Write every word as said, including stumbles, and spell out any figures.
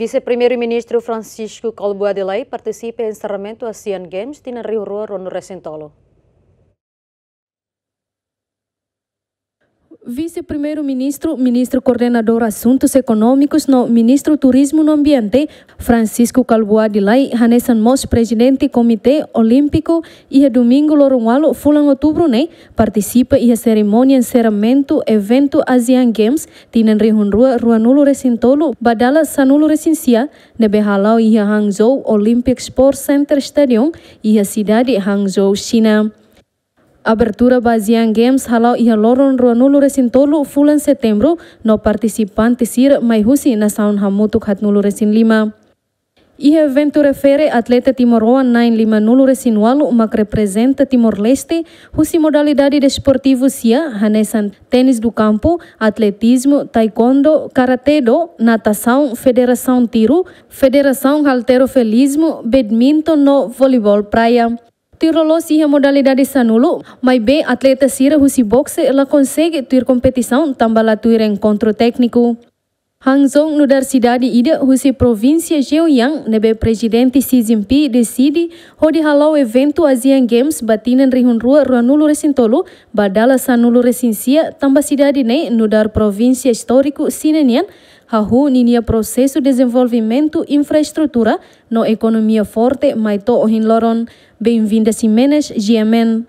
Vise-Primeiru-Ministru Francisco Kalbuadi Lay partisipa enserramentu Asian Games tinan rihun rua ruanulu resin tolu. Vise-Primeiru-Ministru, Ministru Koordenadór Asuntus Ekonómikus no Ministru Turizmu no Ambiente, Francisco Kalbuadi Lay, hanesan mós Prezidente Komité Olímpiku, iha Domingu loron ualu fulan Outubru ne'e, partisipa iha serimónia enserramentu eventu Asian Games tinan rihun rua ruanulu resin tolu ba dala sanulu resin sia, ne'ebé hala'o iha Hangzhou Olympic Sports Center Stadium, iha sidade Hangzhou, Xina. Abertura ba Asian Games hala'o iha loron ruanulu resin tolu fulan Setembru, no partisipante sira mai husi nasaun hamutuk haatnulu resin lima. Iha eventu refere, atleta timoroan na'in limanulu resin ualu mak reprezenta Timor-Leste husi modalidade desportivu sia, hanesan ténis de campo, atletizmu, taekwondo, karate-do, natasaun, federasaun tiru, federasaun halterofilismu, badminton no voleibol praia. Tuir loloos iha modalidade sanulu, maibé atleta sira husi boxe la konsege tuir kompetisaun tanba la tuir enkontru tékniku. Hangzhou nu'udar sidade ida husi provínsia Zhejiang, ne'ebé Prezidente Xi Jinping deside hodi hala'o eventu Asian Games ba tinan rihun rua ruanulu resin tolu ba dala sanulu resin sia, tanba sidade ne'e nu'udar provínsia istóriku Xina nian, hahú ninia prosesu dezenvolvimentu infraestrutura no ekonomia forte mai to'o ohin loron. Benvinda Ximenes, G M N.